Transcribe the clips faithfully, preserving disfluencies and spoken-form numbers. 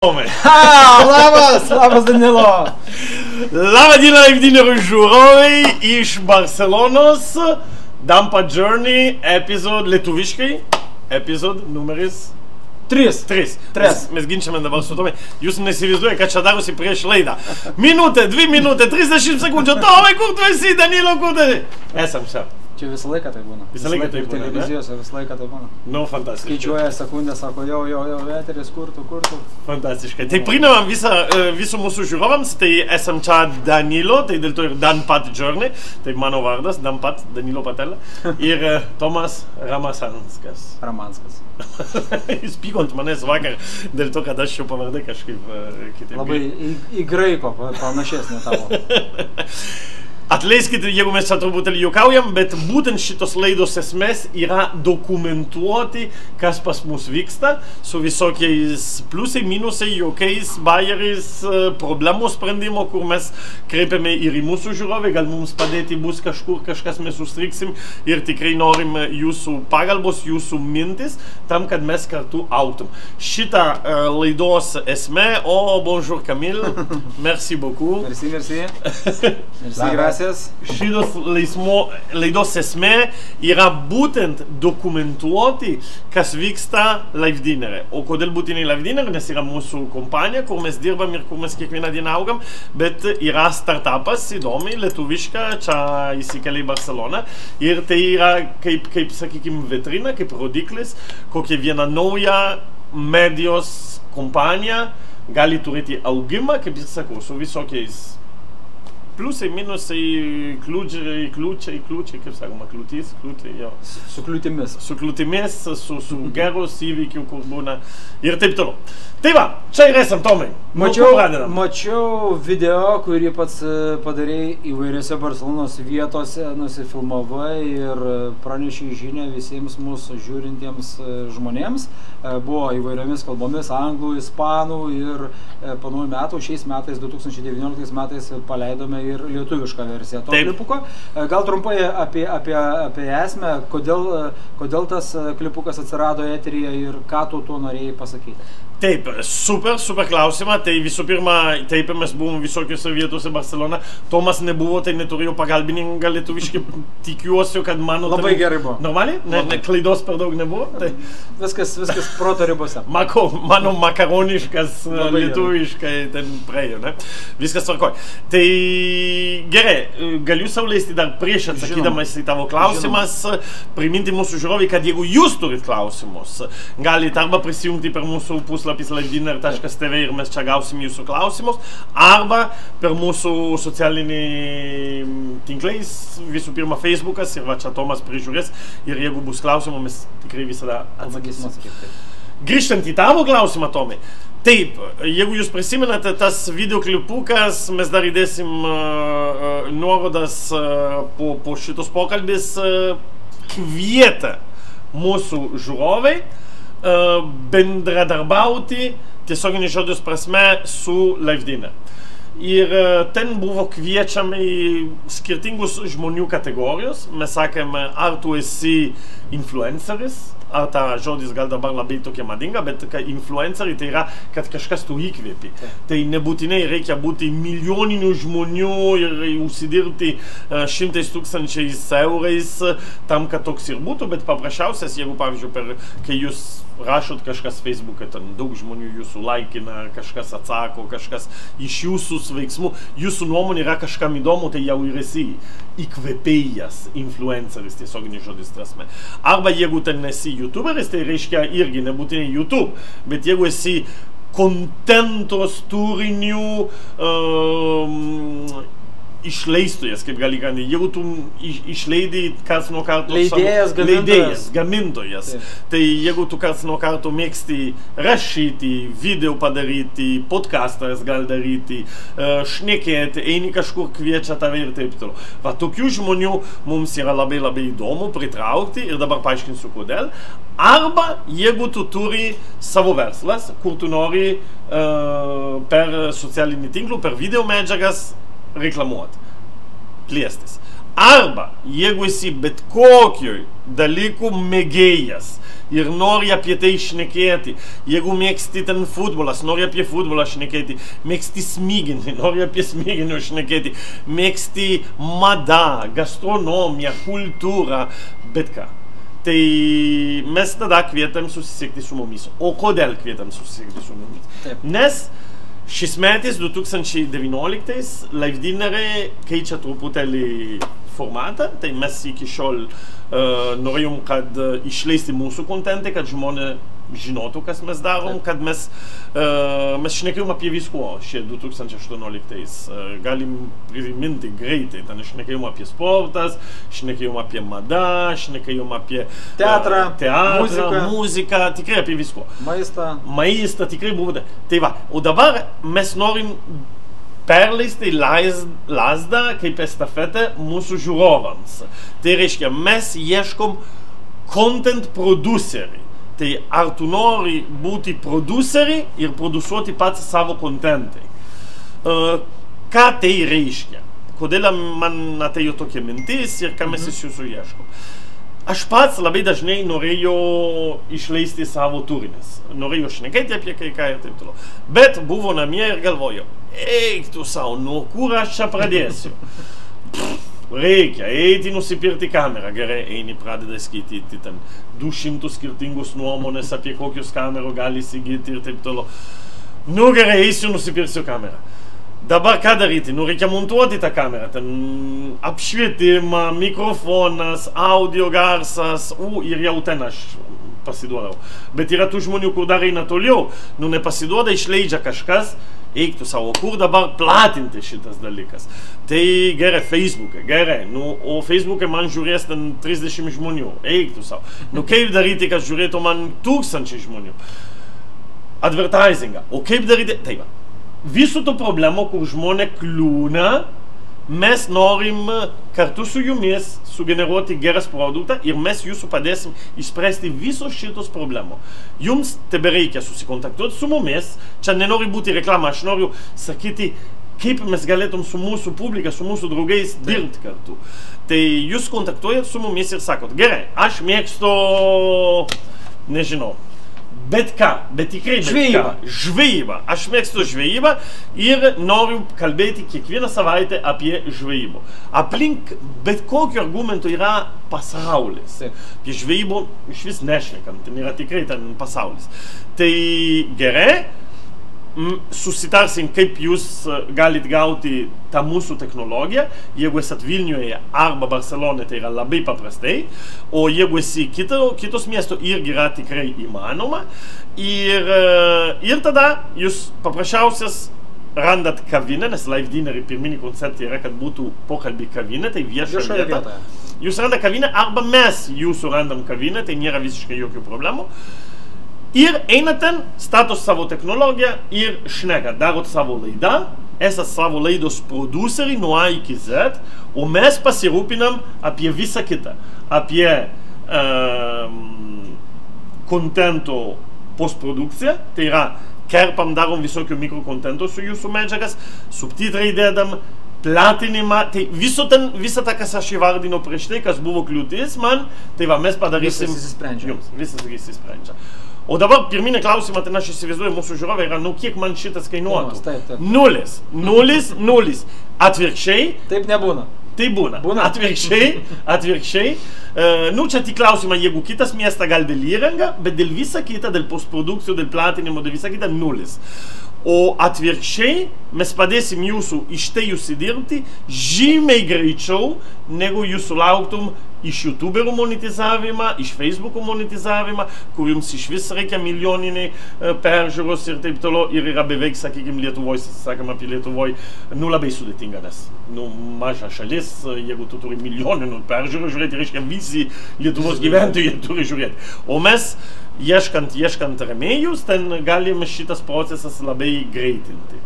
Ha, labas, labas Danilo. Labą dieną, Laivdinerių žiūrovai iš Barcelonos. Dampa Journey epizod lietuviškai. Epizod numeris Tris. Tris. Tres. Mes, mes ginčiame dabar su Tomai. Jūs neįsivaizduoja, kad čia darosi prieš laidą. Minutė, dvi minutė, trisdešimt sekundžių. Tomai, kur tu esi, Danilo, kur tu esi? Esam čia. Čia visą laiką tai būna. Visą laiką tai būna, televizijose visą laiką tai būna. Nu, fantastiškai. Skaičiuoja sekundę, sako, jau, jau, jau, eteris, kur tu, kur tu. Fantastiškai. Tai priminam visą, visų mūsų žiūrovams, tai esam čia Danilo, tai dėl to ir Dampat Journey, tai mano vardas, Dampat, Danilo Patelė, ir Tomas Ramasanskas. Ramanskas. Jis pyko ant manęs vakar, dėl to, kad aš jau pavardai kažkaip kitaip. Labai į, į graiko panašesnė tavo. Atleiskite, jeigu mes čia truputėlį juokaujam, bet būtent šitos laidos esmės yra dokumentuoti, kas pas mus vyksta, su visokiais pliusai, minusai, jokiais bajeriais, problemų sprendimo, kur mes kreipiame ir į mūsų žiūrovę, gal mums padėti bus kažkur, kažkas mes užstriksim ir tikrai norim jūsų pagalbos, jūsų mintis, tam, kad mes kartu augtum. Šitą uh, laidos esmė, o, bonjour Camille, merci beaucoup. Merci, merci. Merci, gracias. Šitos laismo, laidos esmė yra būtent dokumentuoti, kas vyksta Laivdinere. O kodėl būtinai Laivdinere? Nes yra mūsų kompanija, kur mes dirbam ir kur mes kiekvieną dieną augam, bet yra startupas įdomi, lietuviška, čia įsikelia į Barceloną. Ir tai yra kaip, kaip sakykim, vitrina, kaip rodiklis, kokia viena nauja medijos kompanija gali turėti augimą, kaip jis sakau, su visokiais pliusai, minusai, kliūčiai, kliūčiai, kliūčiai, kaip sakoma, kliūtys, kliūčiai, jo. Su kliūtimis. Su kliūtimis, su, su geros įvykių, kur būna ir taip toliau. Tai va, čia ir esam, Tomai. Mačiau, mačiau video, kurį pats padarėjai įvairiose Barcelonos vietose, nusifilmavai ir pranešai žinią visiems mūsų žiūrintiems žmonėms. Buvo įvairiomis kalbomis, anglų, ispanų ir po naujų metų, šiais metais, du tūkstančiai devynioliktais metais paleidome ir lietuvišką versiją to klipuko. Gal trumpai apie, apie, apie esmę, kodėl, kodėl tas klipukas atsirado eteryje ir ką tu tuo norėjai pasakyti? Taip, super, super klausimą. Tai visų pirma, taip mes buvom visokiose vietose Barcelona. Tomas nebuvo, tai neturėjau pagalbininką lietuviškai. Tikiuosi, kad mano... Labai ten... gerai buvo. Normaliai? Ne, ne, klaidos per daug nebuvo? Tai... Viskas, viskas proto ribose. Mako, mano makaroniškas lietuviškai ten praėjo, ne? Viskas tvarkoj. Tai gerai, galiu sau leisti dar prieš atsakydamas į tavo klausimas, priminti mūsų žiūrovai, kad jeigu jūs turit klausimus, galite arba prisijungti per mūsų puslapis laivdiner taškas tv ir mes čia gausim jūsų klausimus, arba per mūsų socialinį tinklais, visų pirma Facebookas, ir va čia Tomas prižiūrės, ir jeigu bus klausimų, mes tikrai visada atsakysim. Grįžtant į tavo klausimą, Tomai, taip, jeigu jūs prisimenate tas videoklipukas, mes dar įdėsim uh, uh, nuorodas uh, po, po šitos pokalbis, uh, kvietė mūsų žiūrovai uh, bendradarbauti tiesioginį žodžios prasme su Laivdinere. Ir uh, ten buvo kviečiami skirtingus žmonių kategorijos. Mes sakėme, ar tu esi influenceris, ar ta žodis gal dabar labai tokia madinga, bet influenceriai tai yra, kad kažkas tu įkvėpi. Tai nebūtinai reikia būti milijoninių žmonių ir užsidirbti šimtais tūkstančiais eurais tam, kad toks ir būtų, bet paprasčiausias, jeigu, pavyzdžiui, per, kai jūs rašot kažkas Facebook'e, ten daug žmonių jūsų laikina, kažkas atsako, kažkas iš jūsų veiksmų, jūsų nuomonė yra kažkam įdomu, tai jau ir esi įkvėpėjas, influenceris, tiesioginis žodis prasme. Arba jeigu ten esi YouTuberis, tai reiškia irgi nebūtinai YouTube, bet jeigu esi kontentos turinių um, išleistojas, kaip gali gandį, jeigu tu iš, išleidai karts nuo karto leidėjas, savo, leidėjas, gamintojas, Taip. Tai jeigu tu karts nuo karto mėgsti rašyti, video padaryti, podcastas gal daryti, uh, šnekėti, eini kažkur kviečia tave ir taip toliau. Va, tokių žmonių mums yra labai labai įdomu pritraukti ir dabar paaiškinsiu kodėl. Arba jeigu tu turi savo verslas, kur tu nori uh, per socialinį tinklų, per video medžiagas reklamuoti, plėstis. Arba, jeigu esi bet kokioj dalykų mėgėjas ir nori apie tai šnekėti, jeigu mėgsti ten futbolas, nori apie futbolą šnekėti, mėgsti smiginį, nori apie smiginių šnekėti, mėgsti mada, gastronomiją, kultūrą, bet ką. Tai mes tada kvietam susisiekti su mumis. O kodėl kvietam susisiekti su mumis? Taip. Nes šis metais, du tūkstančiai devynioliktais, Live Dinner keičia truputėlį formatą, tai mes iki šiol uh, norėjom, kad uh, išleisti mūsų kontentą, kad žmonės žinotų, kas mes darom, kad mes, uh, mes šnekėjom apie visko šie du tūkstančiai aštuonioliktais. Uh, galim priminti greitai, ten šnekėjom apie sportas, šnekėjom apie madą, šnekėjom apie teatrą, uh, teatrą muziką. muziką, tikrai apie visko. Maistą. Maistą, tikrai buvo. Tai va, o dabar mes norim perleisti lasdą kaip estafetę mūsų žiūrovams. Tai reiškia, mes ieškom content producerį. Tai ar tu nori būti producerį ir produsuoti pats savo kontentai. Uh, ką tai reiškia? Kodėl man atėjo tokia mintis ir ką mes iš jūsų ieškom? Aš pats labai dažnai norėjau išleisti savo turinės. Norėjau šnekėti apie kai ką ir taip toliau. Bet buvo namie ir galvojau, eik tu sau, nuo kur aš čia pradėsiu? Pff, reikia eiti nusipirkti kamerą. Gerai, eini, pradeda skaityti ten du šimtus skirtingus nuomonės apie kokius kamerų gali įsigyti ir taip toliau. Nu gerai, eisiu, nusipirksiu kamerą. Dabar ką daryti? Nu reikia montuoti tą kamerą. Ten apšvietimą, mikrofonas, audio garsas, u, ir jau ten aš pasiduodau. Bet yra tų žmonių, kur dar eina toliau. Nu nepasiduoda, išleidžia kažkas, eiktų savo, kur dabar platinti šitas dalykas. Tai gerai, Facebook'e, gerai. Nu, o Facebook'e man žiūrės ten trisdešimt žmonių, eiktų savo. Nu kaip daryti, kad žiūrėtų man tūkstančiai žmonių? Advertisingą. O kaip daryti? Tai va. Visų tų problemų, kur žmonės kliūna, mes norim kartu su jumis sugeneruoti geras produktą ir mes jūsų padėsim išspręsti visus šitus problemų. Jums tebe reikia susikontaktuoti su mumis, čia nenori būti reklama, aš noriu sakyti, kaip mes galėtum su mūsų publika, su mūsų draugais dirbti kartu. Tai jūs kontaktuojat su mumis ir sakot, gerai, aš mėgstu, nežinau, bet ką, bet tikrai bet žvejybą. ką. Žvejybą. Aš mėgstu žvejybą ir noriu kalbėti kiekvieną savaitę apie žvejybą. Aplink bet kokiu argumentu yra pasaulis. Apie žvejybą iš vis nešnekam, ten yra tikrai ten pasaulis. Tai gerai, susitarsim, kaip jūs galit gauti tą mūsų technologiją. Jeigu esat Vilniuje arba Barcelona, tai yra labai paprastai. O jeigu esi kito, kitos miesto, irgi yra tikrai įmanoma. Ir, ir tada jūs paprasčiausias randat kavinę, nes Live Dinner pirminį konceptą yra, kad būtų pokalbį kavinė, tai vieša vieta. Jūs randat kavinę arba mes jūsų randam kavinę, tai nėra visiškai jokių problemų. Ir einat ten, statot savo technologiją ir šnekat, darot savo laidą, esat savo laidos produceriai nuo A iki Z, o mes pasirūpinam apie visą kitą. Apie um, kontento postprodukciją, tai yra kerpam, darom visokių mikrokontento su jūsų medžiagas, subtitrai dėdam, platinimą, tai viso ten, visą tą, kas aš įvardino prieš tai, kas buvo kliūtis man, tai va, mes padarysim visas įsisprendžia. Jums, visas įsisprendžia. O dabar pirminį klausimą, ten aš įsivaizduoju, mūsų žiūrovai yra, nu kiek man šitas kainuotų? Taip, taip. Nulis, nulis, nulis. Atvirkščiai. Taip nebūna. Tai būna. Būna. Atvirkščiai, atvirkščiai. Uh, nu, čia tik klausimą, jeigu kitas miestas gal dėl įrangą, bet dėl visą kitą, dėl postprodukcijų, dėl platinimo, dėl visą kitą, nulis. O atvirkščiai mes padėsim jūsų iš tai užsidirbti žymiai greičiau, negu jūs sulauktum iš YouTuberų monetizavimą, iš Facebook'ų monetizavimą, kur jums iš vis reikia milijoniniai peržiūros ir taip toliau. Ir yra beveik, sakykime, Lietuvoj, sakėm apie Lietuvoj, nu labai sudėtinga, nes nu, maža šalis, jeigu tu turi milijoninių peržiūrų žiūrėti, reiškia visi Lietuvos gyventojai turi žiūrėti. O mes, ieškant, ieškant rėmėjus, ten galim šitas procesas labai greitinti.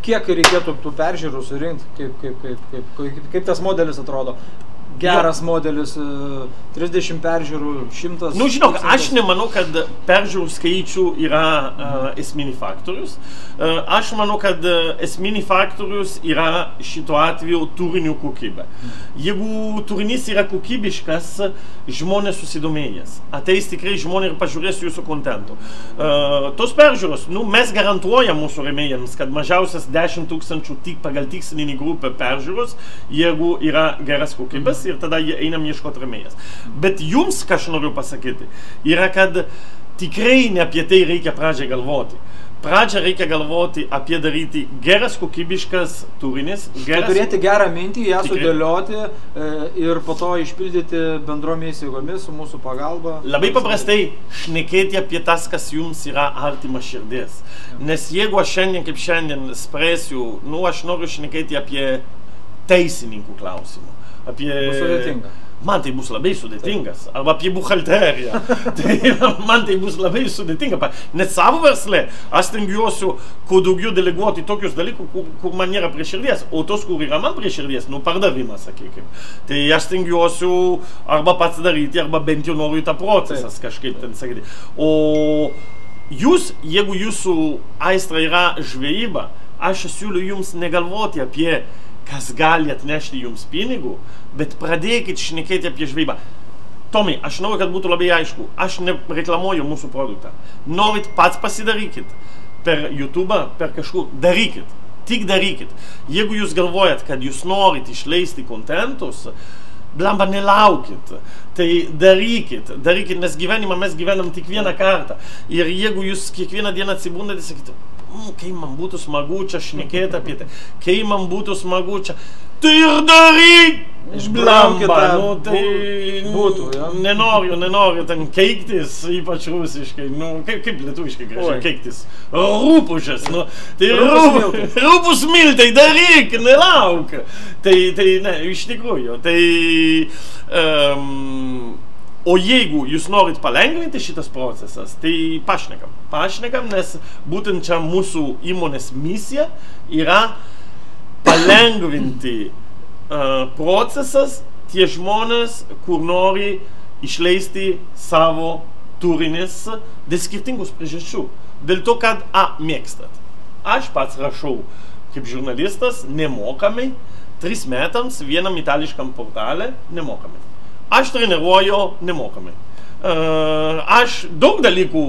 Kiek reikėtų tų peržiūrų surinkti, kaip, kaip, kaip, kaip, kaip, kaip tas modelis atrodo? geras modelis, trisdešimt peržiūrų, šimtas. Nu, žinok, aš nemanau, kad peržiūrų skaičių yra uh, esminį faktorius. Uh, aš manau, kad esminį faktorius yra šituo atveju turinių kokybė. Jeigu turinys yra kokybiškas, žmonės susidomėjęs. Ateis tikrai žmonės ir pažiūrės jūsų kontentų. Uh, tos peržiūros, nu, mes garantuojam mūsų rėmėjams, kad mažiausias dešimt tūkstančių tik pagal tikslinį grupę peržiūros, jeigu yra geras kokybės, ir tada einam ieškoti rėmėjas. Bet jums, ką aš noriu pasakyti, yra, kad tikrai ne apie tai reikia pradžiai galvoti. Pradžią reikia galvoti apie daryti geras, kokybiškas turinis. Geras, turėti gerą mintį, ją tikrai sudėlioti e, ir po to išpildyti bendromis jėgomis su mūsų pagalba. Labai paprastai šnekėti apie tas, kas jums yra artima širdės. Nes jeigu aš šiandien kaip šiandien spręsiu, nu, aš noriu šnekėti apie teisininkų klausimų. Apie... Sudėtinga. Man tai bus labai sudėtingas. Arba apie buhalteriją. Tai man tai bus labai sudėtinga. Net savo versle aš stengiuosiu kuo daugiau deleguoti tokius dalykus, kur, kur man nėra prie širdies. O tos, kur yra man prie širdies, nu pardavimas, sakykime. Tai aš stengiuosiu arba pats daryti, arba bent jau noriu tą procesas kažkaip ten sakyti. O jūs, jeigu jūsų aistra yra žvejyba, aš siūliu jums negalvoti apie kas gali atnešti jums pinigų, bet pradėkit šnekėti apie žvejybą. Tomai, aš noriu, kad būtų labai aišku, aš nereklamuoju mūsų produktą. Norit pats pasidarykit per YouTube, per kažkur, darykit, tik darykit. Jeigu jūs galvojat, kad jūs norit išleisti kontentus, blamba nelaukit, tai darykit, darykit, nes gyvenimą mes gyvenam tik vieną kartą. Ir jeigu jūs kiekvieną dieną atsibundate, sakyti, Mm, kai man būtų smagu čia šnekėti apie tai, kai man būtų smagu čia, tai ir daryk! Blamba, nu tai būtų, ja? Nenoriu, nenoriu ten keiktis, ypač rusiškai, nu kaip, kaip lietuviškai gražiai keiktis, rūpužės, nu, tai rūpus miltai, daryk, nelauk. Tai, tai, ne, iš tikrųjų, tai... Um, O jeigu jūs norit palengvinti šitas procesas, tai pašnekam. Pašnekam, nes būtent čia mūsų įmonės misija yra palengvinti uh, procesas tie žmonės, kur nori išleisti savo turinis dėl skirtingus priežasčių. Dėl to, kad A, mėgstat. Aš pats rašau kaip žurnalistas nemokamai, tris metams vienam itališkam portale nemokamai. Aš treniruoju nemokamai. Uh, aš daug dalykų,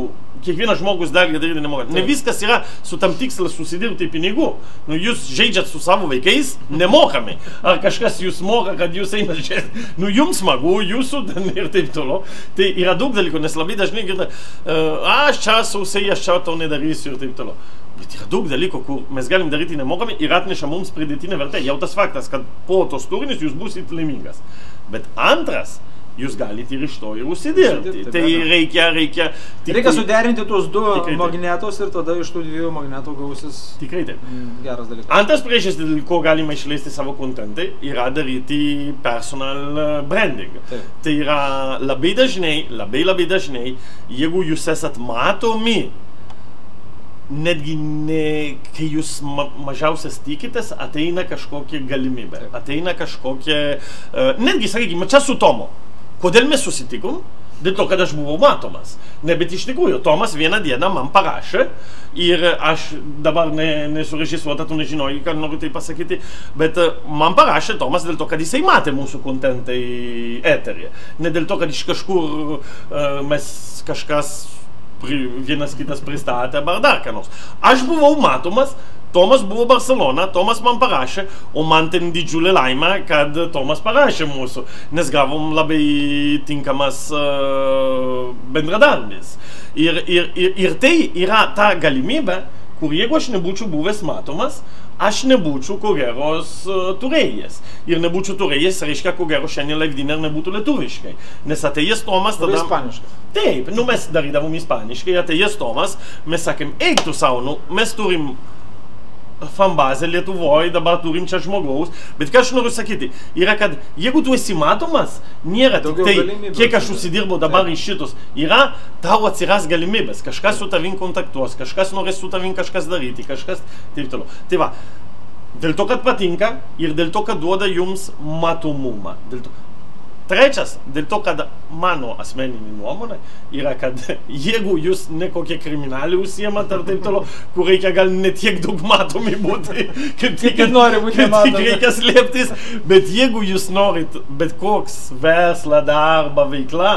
kiekvienas žmogus dar daryti nemokamai. Ne viskas yra su tam tikslas susidirbti pinigų. Nu, jūs žaidžiat su savo vaikais nemokamai. Ar kažkas jūs moka, kad jūs einat žiūrėti. Nu, jums smagu, jūsų ir taip toliau. Tai yra daug dalykų, nes labai dažnai girda, uh, aš čia sausiai, aš čia to nedarysiu ir taip toliau. Bet yra daug dalykų, kur mes galim daryti nemokamai ir atneša mums pridėtinę vertę. Jau tas faktas, kad po tos turinius jūs būsit laimingas. Bet antras, jūs galite ir iš to ir užsidirbti. Tai reikia, reikia... Reikia suderinti tuos du magnetus ir tada iš tų dviejų magnetų gausis tikrai taip. Geras dalykas. Antras priežastis, dėl ko galima išleisti savo kontentai, yra daryti personal branding. Taip. Tai yra labai dažnai, labai labai dažnai, jeigu jūs esat matomi, netgi ne, kai jūs ma mažiausias tikitės, ateina kažkokia galimybė, ateina kažkokia, uh, netgi, sakykime, čia su Tomu. Kodėl mes susitikom? Dėl to, kad aš buvau matomas. Ne, bet iš tikrųjų, Tomas vieną dieną man parašė ir aš dabar ne, nesurežisuota, tu nežinojai, ką noriu tai pasakyti, bet uh, man parašė Tomas dėl to, kad jisai matė mūsų kontentai eteryje. Ne dėl to, kad iš kažkur uh, mes kažkas vienas kitas pristatė, ar dar ką nors. Aš buvau matomas, Tomas buvo Barcelona, Tomas man parašė, o man ten didžiulė laimė, kad Tomas parašė mūsų, nes gavom labai tinkamas uh, bendradarbis. Ir, ir, ir, ir tai yra ta galimybė, kur jeigu aš nebūčiau buvęs matomas, aš nebūčiau ko geros uh, turėjęs. Ir nebūčiau turėjęs, reiškia, ko gero šiandien live dinner nebūtų lietuviškai. Nes atėjęs Tomas tada... Ispaniškai. Taip, nu mes darydavom ispaniškai, atėjęs Tomas, mes sakėm, eik tu savo, nu mes turim fanbazę Lietuvoje, dabar turim čia žmogaus, bet ką aš noriu sakyti, yra, kad jeigu tu esi matomas, nėra tik tai, kiek aš užsidirbau dabar iš šitus, yra, tau atsiras galimybės, kažkas su tavim kontaktuos, kažkas norės su tavim kažkas daryti, kažkas taip toliau. Tai va, dėl to, kad patinka ir dėl to, kad duoda jums matomumą. Dėl to, Trečias, dėl to, kad mano asmeninė nuomonė yra, kad jeigu jūs ne kokie kriminaliai užsiemat ar taip toliau, kur reikia gal ne tiek daug matomi būti, kad tik nori būti nematomi, reikia slėptis, bet jeigu jūs norit bet koks verslą, darbą, veikla,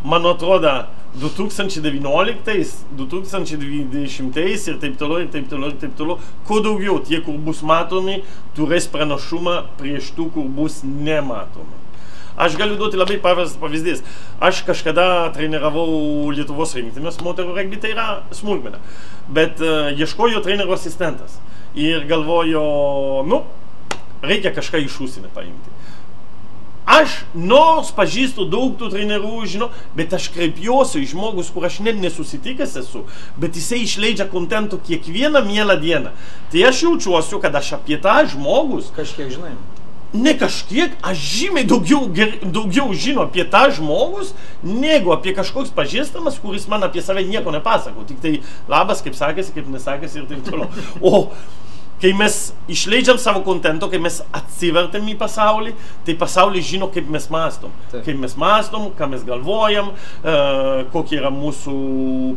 man atrodo, du tūkstančiai devynioliktais, du tūkstančiai dvidešimtais ir taip toliau, ir taip toliau, ir taip toliau, kuo daugiau tie, kur bus matomi, turės pranašumą prieš tų, kur bus nematomi. Aš galiu duoti labai paprastas pavyzdys. Aš kažkada treniravau Lietuvos rinktinės moterų regbį, tai yra smulkmena. Bet uh, ieškojo trenerio asistentas. Ir galvojo, nu, reikia kažką iš užsienio paimti. Aš nors pažįstu daug tų trenerių, žinau, bet aš kreipiuosi į žmogus, kur aš net nesusitikęs esu, bet jisai išleidžia kontentų kiekvieną mielą dieną. Tai aš jaučiuosi, kad aš apie tą žmogus... Kažkiek žinai. Ne kažkiek, aš žymiai daugiau, daugiau žino apie tą žmogus, negu apie kažkoks pažįstamas, kuris man apie save nieko nepasako. Tik tai labas, kaip sakėsi, kaip nesakėsi ir taip toliau. O kai mes išleidžiam savo kontento, kai mes atsivertėm į pasaulį, tai pasaulis žino, kaip mes mąstom. Taip. Kaip mes mąstom, ką mes galvojam, uh, kokie yra mūsų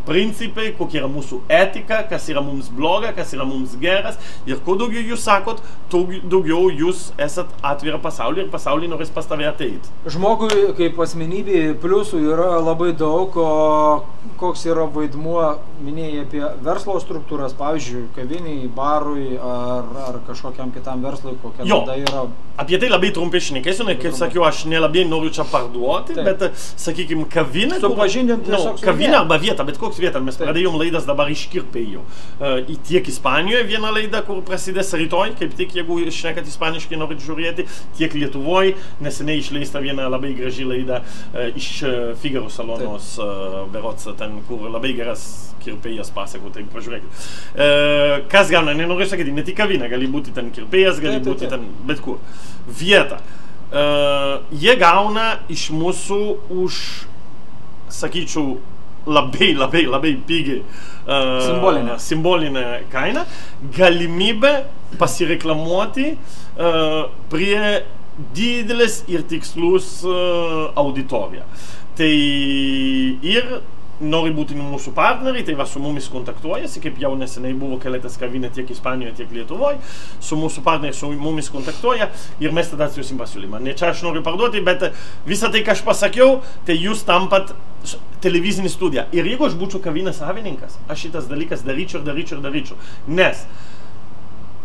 principai, kokie yra mūsų etika, kas yra mums bloga, kas yra mums geras. Ir kuo daugiau jūs sakot, daugiau jūs esat atvira pasaulį ir pasaulį norės pas tave ateiti. Žmogui kaip asmenybė pliusų yra labai daug, o koks yra vaidmuo, minėjai apie verslo struktūras, pavyzdžiui, kaviniai, barui, ar, ar kažkokiam kitam verslui, kokia tada yra... Apie tai labai trumpai šnekėsiu, ne, kaip sakiau, aš nelabai noriu čia parduoti, taip. Bet, sakykime, kavinė... Supažindinti no, kavinė arba vieta, bet koks vieta, mes taip. Pradėjom laidas dabar iš Kirpėjų. Uh, tiek Ispanijoje viena laida, kur prasidės rytoj, kaip tik, jeigu šnekat ispaniškai norit žiūrėti, tiek Lietuvoje, neseniai išleista viena labai graži laida uh, iš uh, Figaro salonos, uh, berots ten, kur labai geras kirpėjas pasako, tai pažiūrėkit. Uh, kas gauna, nenoriu sakyti, ne tik kavinė, gali būti ten kirpėjas, gali būti ten bet kur. Vieta. Uh, jie gauna iš mūsų už, sakyčiau, labai, labai, labai pigiai uh, simbolinę. simbolinę kainą, galimybę pasireklamuoti uh, prie didelės ir tikslus uh, auditoriją. Tai ir nori būti mūsų partneriai, tai va su mumis kontaktuojasi, kaip jau neseniai buvo keletas kavinė tiek Ispanijoje, tiek Lietuvoje, su mūsų partneriai su mumis kontaktuoja ir mes tada atsiusim pasiūlymą. Ne čia aš noriu parduoti, bet visą tai, ką aš pasakiau, tai jūs tampat televizinį studiją. Ir jeigu aš būčiau kavinės savininkas, aš šitas dalykas daryčiau ir daryčiau ir daryčiau. Nes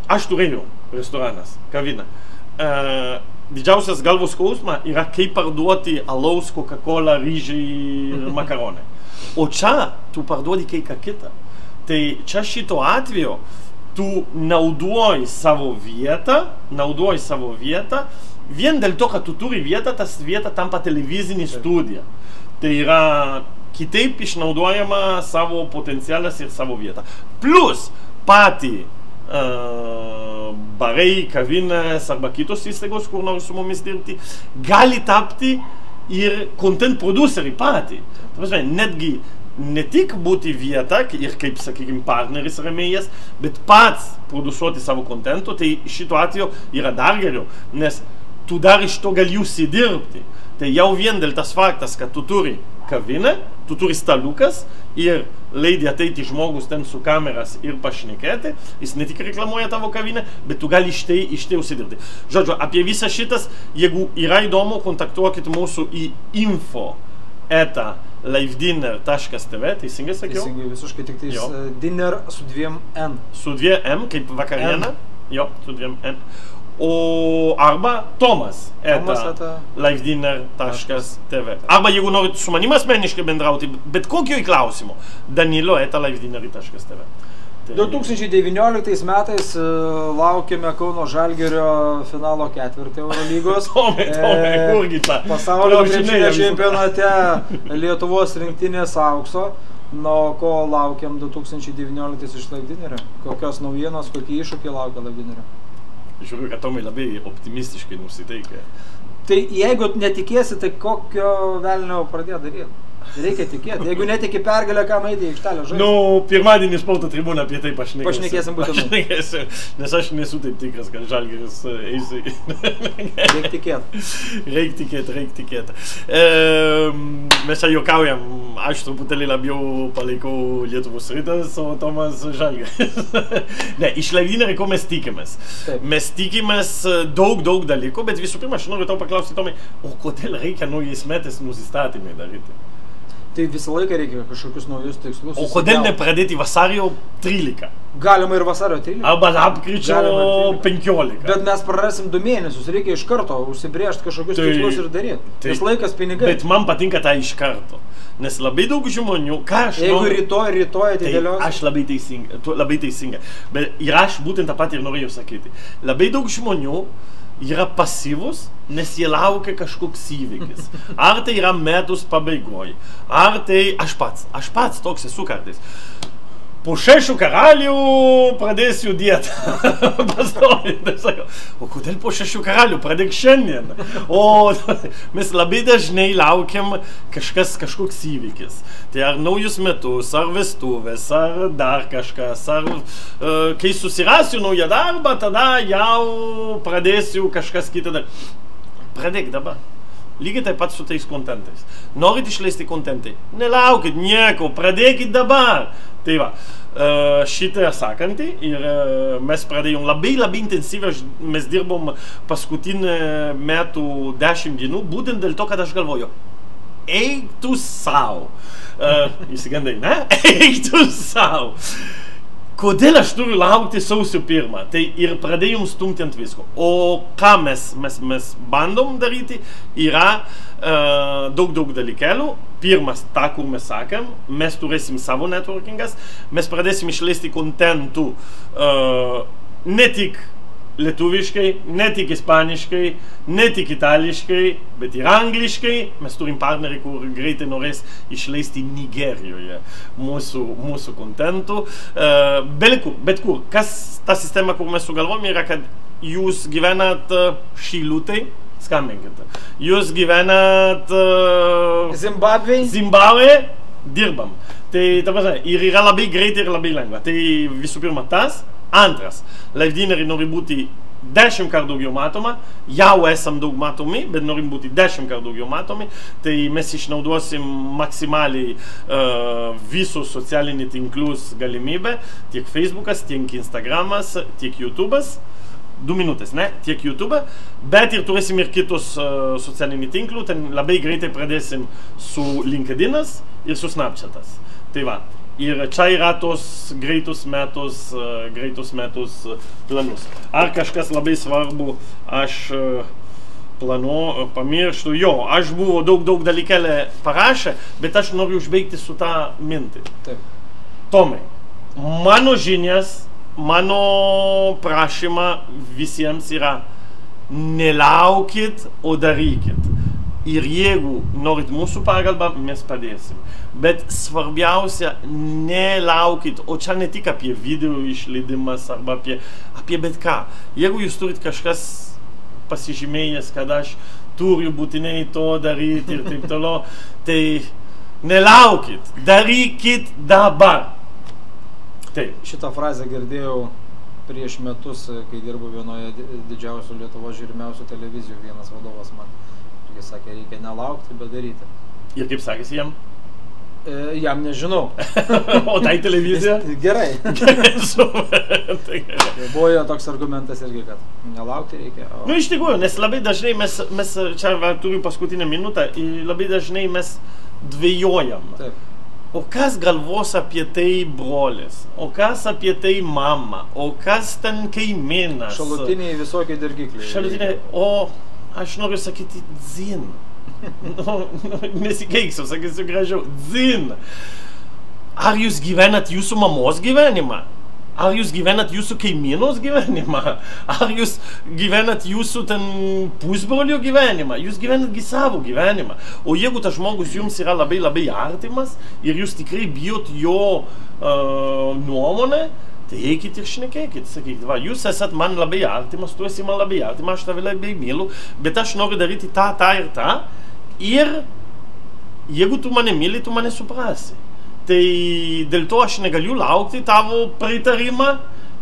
aš turėjau restoranas, kavinę. Uh, didžiausias galvos skausma yra kaip parduoti alaus, Coca-Cola, ryžiai ir makaronai. O čia tu parduodi kai ką kitą. Tai čia šito atveju tu naudoji savo vietą, naudoji savo vietą, vien dėl to, kad tu turi vietą, tas vieta tampa televizinė studija. Tai yra kitaip išnaudojama savo potencialas ir savo vietą. Plus patį uh, barai, kavinės arba kitos įstaigos, kur nori su mumis dirbti, gali tapti ir content produceriai patį. Netgi ne tik būti vieta ir kaip, sakykime, partneris rėmėjas, bet pats produsuoti savo kontento, tai šito atveju yra dar geriau, nes tu dar iš to gali užsidirbti. Tai jau vien dėl tas faktas, kad tu turi kavinę, tu turi staliukas ir leidai ateiti žmogus ten su kameras ir pašnekėti, jis ne tik reklamuoja tavo kavinę, bet tu gali iš tai, iš tai užsidirbti. Žodžiu, apie visą šitas, jeigu yra įdomu, kontaktuokit mūsų į info eta livedinner taškas tv, teisingai sakiau? Teisingai, visiškai tik tais uh, dinner su dviem N. Su dviem M, kaip vakariena. Jo, su dviem N. O arba Tomas eta livedinner taškas tv. Arba jeigu norit su manim asmeniškai bendrauti, bet kokio klausimu, Danilo eta livedinner taškas tv. du tūkstančiai devynioliktais metais laukiame Kauno Žalgirio finalo ketvirtį Eurolygos. Tomai, Tomai, kurgi ta? Pasaulio krepšinio čempionate Lietuvos rinktinės aukso. Na, ko laukiam du tūkstančiai devynioliktais iš Livedinnerio? Kokios naujienos, kokie iššūkiai laukia Livedinnerio? Žiūriu, kad Tomai labai optimistiškai nusiteikia. Tai jeigu netikėsi, tai kokio velnio pradėjo daryti? Reikia tikėti. Jeigu netiki pergalę, kam eiti į aikštelę žaisti? Nu, pirmadienį spaudo tribūną apie tai pašnekėsim. Pašnekėsim būtinai. Pašnekėsim, nes aš nesu taip tikras, kad Žalgiris eis į... Reikia tikėti. Reikia tikėti, reikia tikėti. E, mes čia juokaujam, aš truputėlį labiau palaikau Lietuvos Rytas, o Tomas Žalgiris. Ne, iš Levynerio, ko mes tikimės? Taip. Mes tikimės daug, daug dalykų, bet visų pirma, aš noriu tau paklausti, Tomai, o kodėl reikia naujais metais nusistatymai daryti? Tai visą laiką reikia kažkokius naujus tikslus. O kodėl nepradėti vasario trylika? Galima ir vasario trylika. Arba lapkričio penkiolika. Bet mes prarasim du mėnesius, reikia iš karto užsibrėžti kažkokius tai, tikslus ir daryti. Tai, nes laikas pinigai. Bet man patinka tai iš karto. Nes labai daug žmonių, ką aš Jeigu noriu... rytoj, rytoj atidėlios... Tai aš labai teisinga, labai teisinga. Bet ir aš būtent tą patį ir norėjau sakyti. Labai daug žmonių yra pasyvus, nes jie laukia kažkoks įvykis. Ar tai yra metus pabaigoj, ar tai aš pats, aš pats toks esu kartais. Po šešių karalių pradėsiu dietą. Pastoviai, tai sakau, o kodėl po šešių karalių? Pradėk šiandien. O mes labai dažnai laukiam kažkas, kažkoks įvykis. Tai ar naujus metus, ar vestuvės, ar dar kažkas, ar uh, kai susirasiu naują darbą, tada jau pradėsiu kažkas kitą dar. Pradėk dabar. Lygiai taip pat su tais kontentais. Norit išleisti kontentai? Nelaukit nieko, pradėkit dabar. Tai va, šitą sakantį ir mes pradėjom labai labai intensyviai, mes dirbom paskutinį metų dešimt dienų, būtent dėl to, kad aš galvoju, eik tu sau. Įsigandai, ne? Eik tu sau. Kodėl aš turiu laukti sausio pirmą? Tai ir pradėjom stumti ant visko. O ką mes, mes, mes bandom daryti, yra uh, daug, daug dalykelių. Pirmas, tą, kur mes sakėm, mes turėsim savo networkingas, mes pradėsim išleisti kontentų uh, ne tik lietuviškai, ne tik ispaniškai, ne tik itališkai, bet ir angliškai. Mes turim partnerį, kur greitai norės išleisti Nigerijoje mūsų, mūsų kontentų. Uh, bet kur, bet kur. Kas ta sistema, kur mes sugalvom, yra, kad jūs gyvenat uh, Šilutėj, skambinkit. Jūs gyvenat uh, Zimbabvėj? Zimbabvėj, dirbam. Tai, ta prasme, ir yra labai greitai ir labai lengva. Tai visų pirma tas. Antras, Levynerį nori būti dešimt kart daugiau matoma, jau esam daug matomi, bet norim būti dešimt kart daugiau matomi, tai mes išnaudosim maksimaliai uh, visus socialinius tinklus galimybę, tiek Facebookas, tiek Instagramas, tiek YouTube'as, du minutės, ne, tiek YouTube, bet ir turėsim ir kitus uh, socialinių tinklų, ten labai greitai pradėsim su LinkedInas ir su Snapchatas. Tai va. Ir čia yra tos greitus metus, uh, greitus metus uh, planus. Ar kažkas labai svarbu, aš uh, planu, uh, pamirštu, jo, aš buvo daug, daug dalykelę parašę, bet aš noriu užbaigti su tą mintį. Taip. Tomai, mano žinias, mano prašymą visiems yra nelaukit, o darykit. Ir jeigu norit mūsų pagalbą, mes padėsim. Bet svarbiausia, nelaukit, o čia ne tik apie video išleidimas arba apie, apie bet ką. Jeigu jūs turit kažkas pasižymėjęs, kad aš turiu būtinai to daryti ir taip toliau, tai nelaukit, darykit dabar. Taip. Šitą frazę girdėjau prieš metus, kai dirbu vienoje didžiausių Lietuvos žiūrimiausių televizijų, vienas vadovas man. Jis sakė, reikia nelaukti, bet daryti. Ir kaip sakėsi jam? E, jam nežinau. O tai televizija? Gerai. Tai gerai. Buvo jo toks argumentas irgi, kad nelaukti reikia. O... Nu, iš tikrųjų, nes labai dažnai mes, mes čia va, turim paskutinę minutę, labai dažnai mes dvejojam. Taip. O kas galvos apie tai brolis? O kas apie tai mama? O kas ten kaimynas? Šalutiniai visokie dirgikliai. Šalutiniai, o... Aš noriu sakyti dzin. Nu, nesikeiksiu, sakysiu gražiau. Dzin. Ar jūs gyvenat jūsų mamos gyvenimą? Ar jūs gyvenat jūsų kaimynos gyvenimą? Ar jūs gyvenat jūsų ten pusbrolio gyvenimą? Jūs gyvenatgi savo gyvenimą. O jeigu tas žmogus jums yra labai labai artimas ir jūs tikrai bijot jo uh, nuomonę, tai eikit ir šnekėkit, sakykit, va, jūs esat man labai artimas, tu esi man labai artimas, aš tave labai myliu, bet aš noriu daryti tą, tą ir tą, ir jeigu tu mane myli, tu mane suprasi. Tai dėl to aš negaliu laukti tavo pritarimą,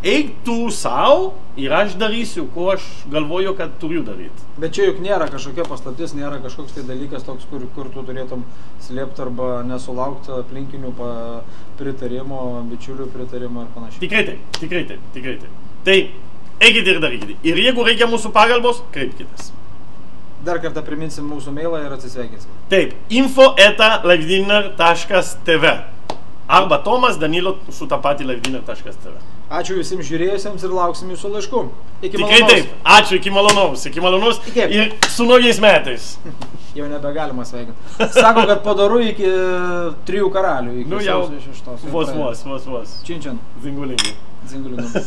eik tu savo ir aš darysiu, ko aš galvoju, kad turiu daryti. Bet čia juk nėra kažkokia paslaptis, nėra kažkoks tai dalykas toks, kur, kur tu turėtum slėpti arba nesulaukti aplinkinių pritarimo, bičiulių pritarimo ir panašiai. Tikrai taip, tikrai taip, tikrai taip. Tai eikite ir darykite. Ir jeigu reikia mūsų pagalbos, kreipkitės. Dar kartą priminsim mūsų mailą ir atsisveikinsim. Taip, info eta livedinar taškas tv arba Tomas Danilo su tą patį livedinar taškas tv. Ačiū visiems žiūrėjusiems ir lauksim jūsų laiškų. Iki Tikrai malonaus. taip. Ačiū, iki malonaus. Iki malonaus Iki. ir su naujais metais. Jau nebegalima sveikinti. Sako, kad padaru iki trijų karalių. Iki Nu jau, sausio šeštos. vos, vos, vos, vos. Činčian. Zingulingi. Zingulingi.